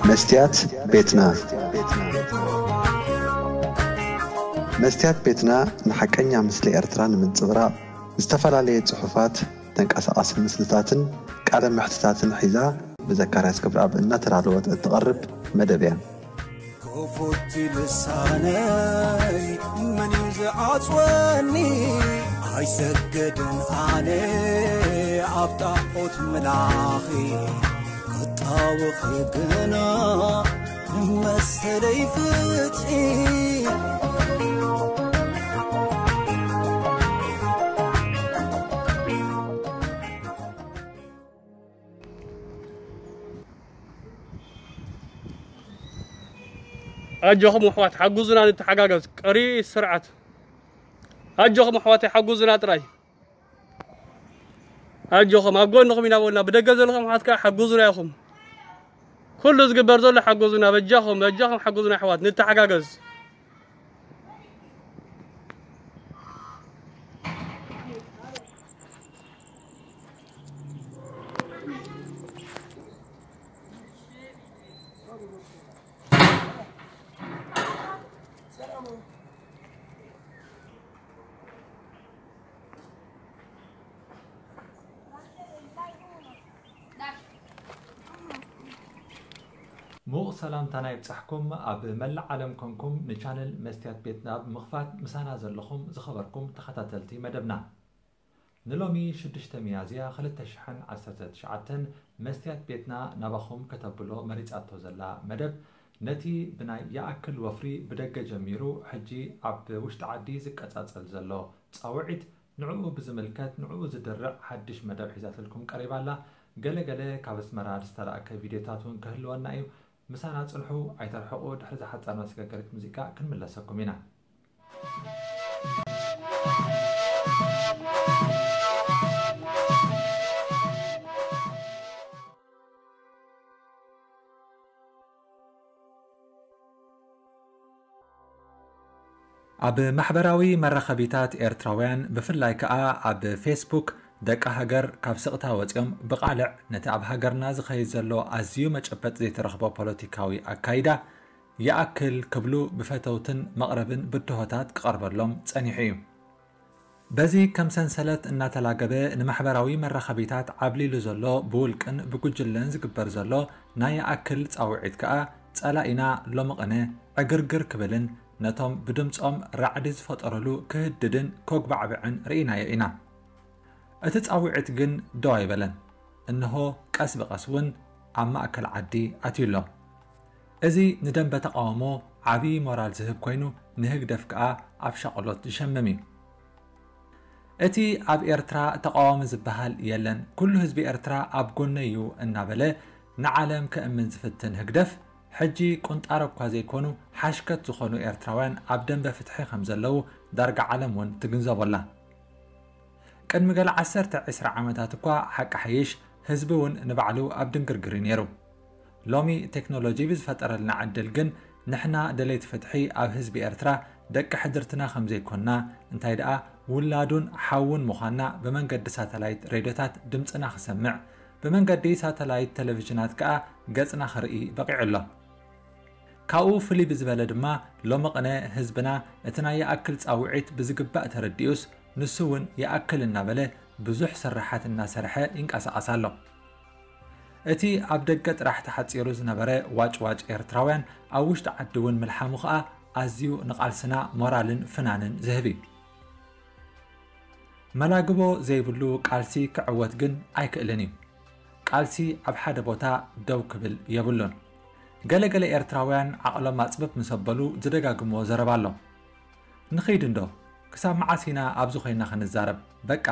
መስትያት ቤትና። መስትያት ቤትና ንሓቀኛ ምስሊ ኤርትራ ንምንጽብራቕ ዝተፈላለየ ጽሑፋት፣ ተንቀሳቓሲ ምስልታትን ቃለ መሕትታትን ሒዛ ብዘካርያስ ገብረኣብ እናተዳለወት እትቐርብ መደብ እያ። ክፉት ልሳነይ መን እዩ ዝዓጽወኒ? ኣይሰግድን ኣነ ኣብ ጣዖት ምላኺ፣ ክጣወኺ ግና ንመሰለይ ፍትሒ። ኣጆኹም ኣሕዋት፣ ሓግዙና፣ ንተሓጋገዝ። ቀሪ ስርዓት። ኣጆኹም ኣሕዋተይ፣ ሓግዙና ጥራይ። ኣጆኹም፣ ኣብ ጎንኹም ኢና በልና። ብደገ ዘለኹም ኣሕዋት ከኣ ሓግዙና ኢኹም። ኩሉ ዝግበር ዘሎ ሓግዙና፣ በጃኹም፣ በጃኹም ሓግዙና ኣሕዋት፣ ንተሓጋገዝ። ምዉቕ ሰላምታና ይብጻሕኩም። ኣብ መላእ ዓለም ኮንኩም ንቻነል መስትያት ቤትና ብምኽፋት ምሳና ዘለኹም ዝኸበርኩም ተኸታተልቲ መደብና። ንሎሚ ሽዱሽተ ሚያዝያ ክልተ ሽሕን ዓሰርተ ትሽዓተን መስትያት ቤትና ናባኹም ከተብሎ መሪጻቶ ዘላ መደብ፣ ነቲ ብናይ ይኣክል ወፍሪ ብደገ ጀሚሩ ሕጂ ኣብ ውሽጢ ዓዲ ዝቀጻጸል ዘሎ ጻውዒት፣ ንዕኡ ብዝምልከት፣ ንዕኡ ዝድርዕ ሓድሽ መደብ ሒዛትልኩም ቀሪባ ኣላ። ገለ ገለ ካብ ኣስመራ ዝተላእከ ቪድዮታት እውን ክህልወና እዩ። ምሳና ጽንሑ፣ ኣይተርሕቑ። ድሕሪ ዝሓጸር መሰጋገሪት ሙዚቃ ክንምለሰኩም ኢና። ኣብ ማሕበራዊ መራኸቢታት ኤርትራውያን፣ ብፍላይ ከኣ ኣብ ፌስቡክ፣ ደቂ ሃገር ካብ ስቕታ ወጺኦም ብቓልዕ ነቲ ኣብ ሃገርና ዝኸይድ ዘሎ ኣዝዩ መጨበጥ ዘይተረኽቦ ፖለቲካዊ ኣካይዳ ይኣክል ክብሉ ብፈተውትን መቕረብን ብድሆታት ክቐርበሎም ጸኒሑ እዩ። በዚ ከም ሰንሰለት እናተላገበ ንማሕበራዊ መራኸቢታት ዓብሊሉ ዘሎ ብውልቅን ብጉጅለን ዝግበር ዘሎ ናይ ይኣክል ጻውዒት ከኣ ጸላኢና ሎሚ ቅነ ዕግርግር ክብልን ነቶም ብድምጾም ራዕዲ ዝፈጠሩሉ ክህድድን ኮግባዕብዕን ርኢናዮ ኢና። እቲ ጻውዒት ግን ደው ኣይበለን። እንሆ ቀስ ብቐስ እውን ኣብ ማእከል ዓዲ ኣትዩ ኣሎ። እዚ ንደንበ ተቓውሞ ዓቢ ሞራል ዝህብ ኮይኑ፣ ንህግደፍ ከኣ ኣብ ሻቕሎት ዝሸምም እዩ። እቲ ኣብ ኤርትራ ተቓዋሚ ዝበሃል የለን፣ ኩሉ ህዝቢ ኤርትራ ኣብ ጎነይ እዩ እናበለ ንዓለም ከእምን ዝፍትን ህግደፍ፣ ሕጂ ቁንጣሮ እኳ ዘይኮኑ ሓሽከት ዝኾኑ ኤርትራውያን ኣብ ደንበ ፍትሒ ከም ዘለዉ ዳርጋ ዓለም እውን ትግንዘቦ ኣላ። ቅድሚ ገለ ዓሰርተ ዒስራ ዓመታት እኳ ሓቂ ሓይሽ ህዝቢ እውን ንባዕሉ ኣብ ድንግርግር እዩ ነይሩ። ሎሚ ቴክኖሎጂ ብዝፈጠረልና ዕድል ግን ንሕና ደለይቲ ፍትሒ ኣብ ህዝቢ ኤርትራ ደቂ ሕድርትና ከም ዘይኮንና፣ እንታይ ደኣ ውላዱን ሓዉን ምዃንና ብመንገዲ ሳተላይት ሬድዮታት ድምጽና ክሰምዕ፣ ብመንገዲ ሳተላይት ቴሌቪዥናት ከኣ ገጽና ክርኢ በቒዑ ኣሎ። ካብኡ ፍልይ ብዝበለ ድማ ሎሚ ቅነ ህዝብና እቲ ናይ ይኣክል ጻውዒት ብዝግባእ ተረዲኡስ ንሱ እውን ይኣክል እናበለ ብዙሕ ስርሓት እናሰርሐ ይንቀሳቐስ ኣሎ። እቲ ኣብ ደገ ጥራሕ ተሓጺሩ ዝነበረ ዋጭዋጭ ኤርትራውያን ኣብ ውሽጢ ዓዲ እውን ምልሓሙ ከኣ ኣዝዩ ንቓልስና ሞራልን ፍናንን ዝህብ እዩ። መላግቦ ዘይብሉ ቃልሲ ክዕወት ግን ኣይክእልን እዩ። ቃልሲ ኣብ ሓደ ቦታ ደው ክብል የብሉን። ገለ ገለ ኤርትራውያን ዓቕሎም ኣጽብብ ምስ ኣበሉ ዝደጋግምዎ ዘረባ ኣሎ። "ንኺድ እንዶ፣ ክሳብ መዓስ ኢና ኣብዚ ኮይና ክንዛረብ? በቃ፣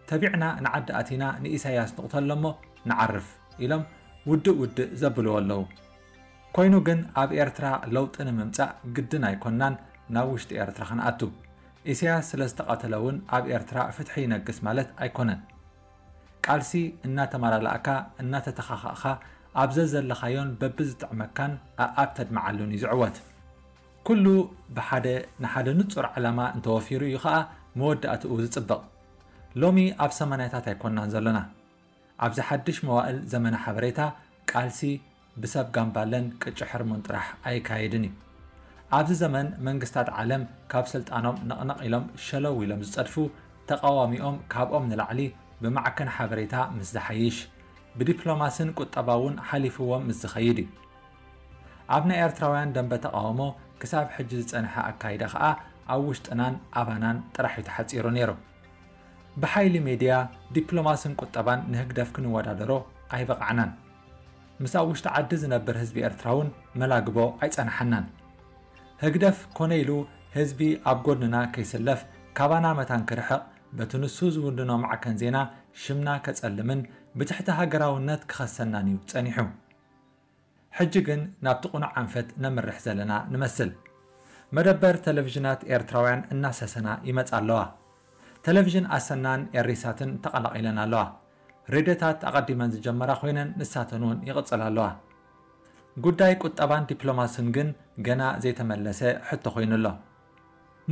ተቢዕና ንዓዲ ኣቲና ንኢሳያስ ንቕተሎ እሞ ንዓርፍ" ኢሎም ውድእ ውድእ ዘብልዎ ኣለዉ። ኮይኑ ግን ኣብ ኤርትራ ለውጢ ንምምጻእ ግድን ኣይኮንናን ናብ ውሽጢ ኤርትራ ክንኣቱ። ኢሳያስ ስለ ዝተቐተለ እውን ኣብ ኤርትራ ፍትሒ ይነግስ ማለት ኣይኮነን። ቃልሲ እናተመላላእካ፣ እናተተኻኻእካ፣ ኣብ ዘዘለኻዮን በብዝጥዕመካን ኣኣብ ተድምዓሉን እዩ ዝዕወት። ኩሉ ብሓደ ንሓደ ንጹር ዓላማ እንተወፊሩ እዩ ኸኣ መወዳእትኡ ዝጽብቕ። ሎሚ ኣብ ሰማንያታት ኣይኮንናን ዘሎና። ኣብዚ ሓድሽ መዋእል ዘመነ ሓበሬታ፣ ቃልሲ ብሰብ ጋምባለን ቅጭ ሕርሙን ጥራሕ ኣይካየድን እዩ። ኣብዚ ዘመን መንግስታት ዓለም ካብ ስልጣኖም ነቕነቕ ኢሎም ሸለው ኢሎም ዝጸድፉ፣ ተቓዋሚኦም ካብኦም ንላዕሊ ብማዕከን ሓበሬታ ምስ ዝሓይሽ፣ ብዲፕሎማስን ቁጠባ እውን ሓሊፍዎም ምስ ዝኸይድ እዩ። ኣብ ናይ ኤርትራውያን ደንበ ተቓውሞ ክሳብ ሕጂ ዝጸንሐ ኣካይዳ ከኣ ኣብ ውሽጥናን ኣባናን ጥራሕ እዩ ተሓጺሩ ነይሩ። ብሓይሊ ሜድያ፣ ዲፕሎማስን ቁጠባን ንህግደፍ ክንወዳደሮ ኣይበቓዕናን። ምስ ኣብ ውሽጢ ዓዲ ዝነብር ህዝቢ ኤርትራ እውን መላግቦ ኣይጸንሓናን። ህግደፍ ኮነ ኢሉ ህዝቢ ኣብ ጎድንና ከይስለፍ፣ ካባና መታን ክርሕቕ፣ በቲ ንሱ ዝውንኖ ማዕከን ዜና ሽምና ከጸልምን ብትሕቲ ሃገራውነት ክኸሰናን እዩ ጸኒሑ። ሕጂ ግን ናብቲ ቅኑዕ ኣንፈት ነምርሕ ዘለና ንመስል። መደበር ቴሌቪዥናት ኤርትራውያን እናሰሰና ይመጻ ኣለዋ። ቴሌቪዥን ኣሰናን ኤሪሳትን ተቐላቒለን ኣለዋ። ሬድዮታት ኣቐዲመን ዝጀመራ ኮይነን ንሳተን እውን ይቕጽላ ኣለዋ። ጉዳይ ቁጠባን ዲፕሎማስን ግን ገና ዘይተመለሰ ሕቶ ኮይኑ ኣሎ።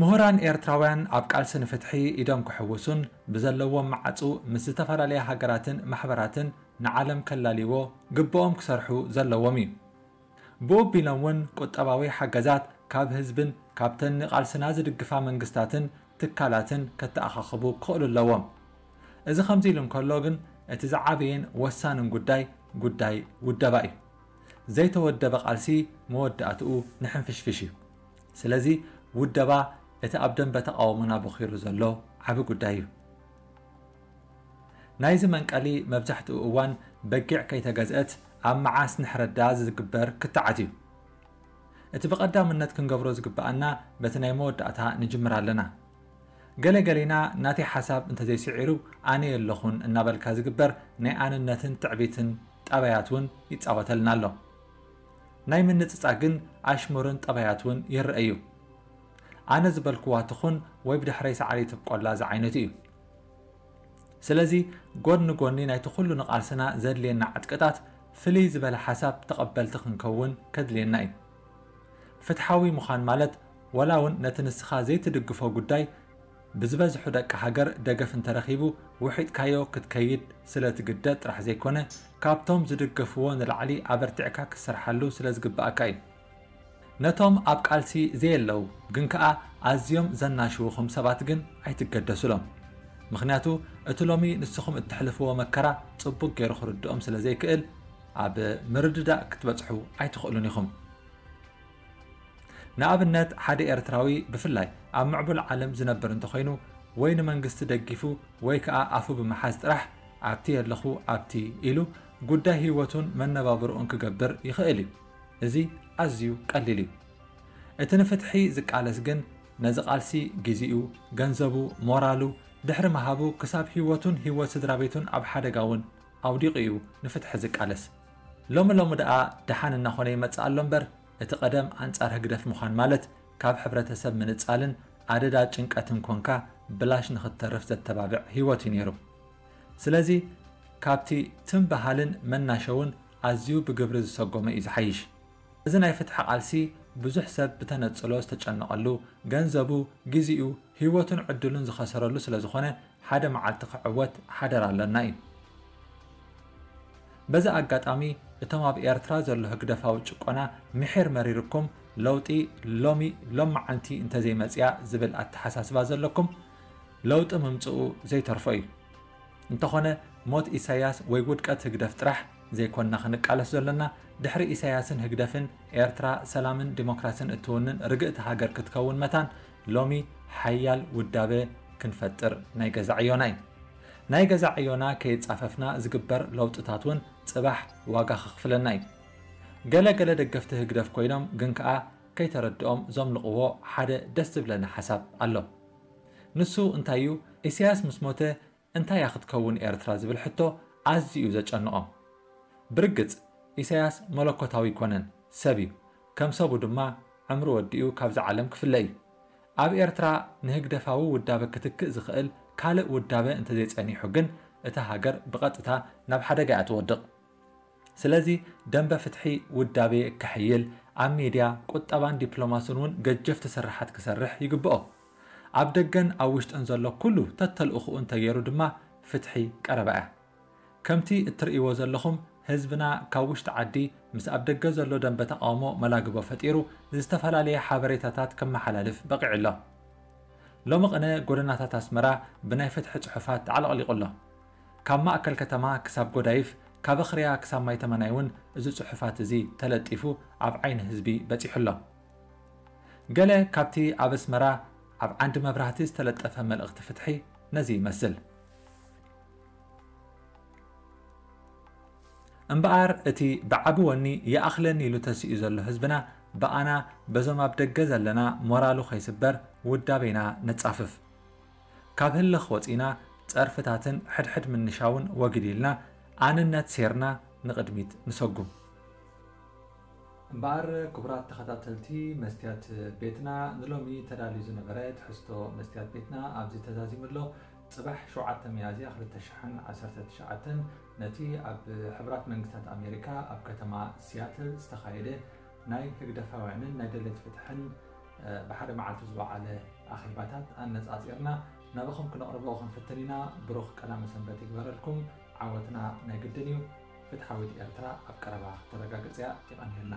ምሁራን ኤርትራውያን ኣብ ቃልሲ ንፍትሒ ኢዶም ክሕውሱን ብዘለዎም መዓጹ ምስ ዝተፈላለያ ሃገራትን ማሕበራትን ንዓለም ከላልይዎ ግብኦም ክሰርሑ ዘለዎም እዩ። ብኡ ኣቢሎም እውን ቁጠባዊ ሓገዛት ካብ ህዝብን ካብተን ንቃልስና ዝድግፋ መንግስታትን ትካላትን ከተኣኻኽቡ ክኽእሉ ኣለዎም። እዚ ከምዚ ኢሉ እንከሎ ግን እቲ ዝዓበየን ወሳንን ጉዳይ፣ ጉዳይ ውደባ እዩ። ዘይተወደበ ቃልሲ መወዳእትኡ ንሕንፍሽፍሽ እዩ። ስለዚ ውደባ እቲ ኣብ ደንበ ተቓውሞና ቦኺሩ ዘሎ ዓቢ ጉዳይ እዩ። ናይዚ መንቀሊ መብዛሕትኡ እዋን በጊዕ ከይተገዝአት ኣብ መዓስ ንሕረዳ ዝግበር ክትዓት እዩ። እቲ ብቐዳምነት ክንገብሮ ዝግብኣና በቲ ናይ መወዳእታ ንጅምር ኣለና። ገለ ገሊና ናተይ ሓሳብ እንተዘይስዒሩ ኣነ የለኹን እናበልካ ዝግበር ናይ ኣነነትን ትዕቢትን ጠባያት እውን ይጻወተልና ኣሎ። ናይ ምንጽጻ ግን ኣሽሙርን ጠባያት እውን ይረአ እዩ። ኣነ ዝበልክዋ ትኹን ወይ ብድሕረይ ሳዕሪ ትብቆላ ዝዓይነቱ እዩ። ስለዚ ጎኒ ጎኒ ናይቲ ኩሉ ንቓልስና ዘድልየና ዕጥቅታት ፍልይ ዝበለ ሓሳብ ተቐበልቲ ክንከውን ከድልየና እዩ። ፍትሓዊ ምዃን ማለት ዋላ እውን ነቲ ንስኻ ዘይትድግፎ ጉዳይ ብዝበዝሑ ደቂ ሃገር ደገፍ እንተረኺቡ ውሒጥካዮ ክትከይድ ስለ ትግደድ ጥራሕ ዘይኮነ፣ ካብቶም ዝድገፍዎ ንላዕሊ ኣበርቲዕካ ክትሰርሓሉ ስለ ዝግብኣካ እዩ። ነቶም ኣብ ቃልሲ ዘየለዉ ግን ከኣ ኣዝዮም ዘናሽውኹም ሰባት ግን ኣይትገደሱሎም። ምኽንያቱ እቲ ሎሚ ንስኹም እተሕልፍዎ መከራ ጽቡቕ ገይሩ ክርድኦም ስለ ዘይክእል ኣብ ምርድዳእ ክትበጽሑ ኣይትኽእሉን ኢኹም። ንኣብነት ሓደ ኤርትራዊ ብፍላይ ኣብ ምዕቡል ዓለም ዝነብር እንተኾይኑ ወይ ንመንግስቲ ደጊፉ ወይ ከኣ ኣፉ ብምሓዝ ጥራሕ ኣብቲ የለኹ ኣብቲ ኢሉ ጉዳይ ህይወቱን መነባብርኡን ክገብር ይኽእል እዩ። እዚ ኣዝዩ ቀሊል እዩ። እቲ ንፍትሒ ዝቃለስ ግን ነዚ ቃልሲ ግዜኡ፣ ገንዘቡ፣ ሞራሉ ድሕሪ ምሃቡ ክሳብ ህይወቱን ህይወት ስድራ ቤቱን ኣብ ሓደጋ እውን ኣውዲቑ እዩ ንፍትሒ ዝቃለስ። ሎሚ ሎሚ ደኣ ደሓን እናኾነ ይመጽእ ኣሎ እምበር፣ እቲ ቀደም ኣንጻር ህግደፍ ምዃን ማለት ካብ ሕብረተሰብ ምንጻልን ኣደዳ ጭንቀትን ኮንካ ብላሽ ንኽትተርፍ ዘተባብዕ ህይወት እዩ ነይሩ። ስለዚ ካብቲ ትም በሃልን መናሸውን ኣዝዩ ብግብሪ ዝሰጎመ እዩ ዝሓይሽ። እዚ ናይ ፍትሒ ቃልሲ ብዙሕ ሰብ ብተነጽሎ ዝተጨነቐሉ፣ ገንዘቡ፣ ግዜኡ፣ ህይወቱን ዕድሉን ዝኸሰረሉ ስለ ዝኾነ ሓደ መዓልቲ ክዕወት ሓደራ ኣለና እዩ። በዚ ኣጋጣሚ እቶም ኣብ ኤርትራ ዘሎ ህግደፋዊ ጭቆና ምሒር መሪርኩም ለውጢ ሎሚ ሎመዓንቲ እንተዘይመጽያ ዝብል ኣተሓሳስባ ዘለኩም ለውጢ ምምጽኡ ዘይተርፎ እዩ። እንተኾነ ሞት ኢሳያስ ወይ ውድቀት ህግደፍ ጥራሕ ዘይኮንና ክንቃለስ ዘሎና፣ ድሕሪ ኢሳያስን ህግደፍን ኤርትራ ሰላምን ዲሞክራስን እትውንን ርግእቲ ሃገር ክትከውን መታን ሎሚ ሓያል ውዳበ ክንፈጥር ናይ ገዛ ዕዮና እዩ። ናይ ገዛ ዕዮና ከየጻፈፍና ዝግበር ለውጥታት እውን ጽባሕ ዋጋ ከኽፍለና እዩ። ገለ ገለ ደገፍቲ ህግደፍ ኮይኖም ግን ከኣ ከይተረድኦም ዘምልቕዎ ሓደ ደስ ዝብለኒ ሓሳብ ኣሎ። ንሱ እንታይ እዩ? ኢሳያስ ምስ ሞተ እንታይ እያ ክትከውን ኤርትራ ዝብል ሕቶ ኣዝዩ እዩ ዘጨንቖም። ብርግጽ ኢሳያስ መለኮታዊ ኣይኮነን፣ ሰብ እዩ። ከም ሰቡ ድማ ዕምሩ ወዲኡ ካብዛ ዓለም ክፍለ እዩ። ኣብ ኤርትራ ንህግደፋዊ ውዳበ ክትክእ ዝኽእል ካልእ ውዳበ እንተዘይጸኒሑ ግን እታ ሃገር ብቐጥታ ናብ ሓደጋ እያ ትወድቕ። ስለዚ ደንበ ፍትሒ ውዳቤ ከሕይል፣ ኣብ ሚድያ፣ ቁጠባን ዲፕሎማስን እውን ገጀፍቲ ስርሓት ክሰርሕ ይግብኦ። ኣብ ደገን ኣብ ውሽጥን ዘሎ ኩሉ ተተልእኹኡ እንተገይሩ ድማ ፍትሒ ቀረባ እያ። ከምቲ እትርእይዎ ዘለኹም ህዝብና ካብ ውሽጢ ዓዲ ምስ ኣብ ደገ ዘሎ ደንበ ተቓውሞ መላግቦ ፈጢሩ ዝተፈላለየ ሓበሬታታት ከመሓላልፍ በቒዑ ኣሎ። ሎሚ ቅነ ጎደናታት ኣስመራ ብናይ ፍትሒ ጽሑፋት ተዓለቕሊቑ ኣሎ። ካብ ማእከል ከተማ ክሳብ ጎዳይፍ፣ ካብ ኣኽርያ ክሳብ ማይ ተመናይ እውን እዚ ጽሑፋት እዚ ተለጢፉ ኣብ ዓይኒ ህዝቢ በጺሑ ኣሎ። ገለ ካብቲ ኣብ ኣስመራ ኣብ ዓንዲ መብራህቲ ዝተለጠፈ መልእኽቲ ፍትሒ ነዚ ይመስል። እምበኣር እቲ ብዓቢ ወኒ ይኣኽለኒ ኢሉ ተሲኡ ዘሎ ህዝብና ብኣና በዞም ኣብ ደገ ዘለና ሞራሉ ከይስበር ውዳቤና ነጻፍፍ። ካብ ህልኽ ወጺና ጸርፍታትን ሕድሕድ ምንሻውን ወግድ ኢልና ኣንነት ሴርና ንቕድሚት ንሰጉም። እምበኣር ክቡራት ተኸታተልቲ መስትያት ቤትና፣ ንሎሚ ተዳልዩ ዝነበረ ትሕዝቶ መስትያት ቤትና ኣብዚ ተዛዚሙ ኣሎ። ጽባሕ ሸውዓተ ሚያዝያ ክልተ ሽሕን ዓሰርተ ትሽዓተን ነቲ ኣብ ሕቡራት መንግስታት ኣሜሪካ ኣብ ከተማ ሲያትል ዝተኻየደ ናይ ህግደፋውያንን ናይ ደለይቲ ፍትሕን ብሓደ መዓልቲ ዝወዓለ ኣኼባታት ኣነጻጺርና ናባኹም ክነቕርቦ ክንፍትን ኢና። ብሩኽ ቀዳመ ሰንበት ይግበረልኩም። ዓወትና ናይ ግድን እዩ። ፍትሓዊት ኤርትራ ኣብ ቀረባ ክተረጋግጽ እያ። የቐንየልና።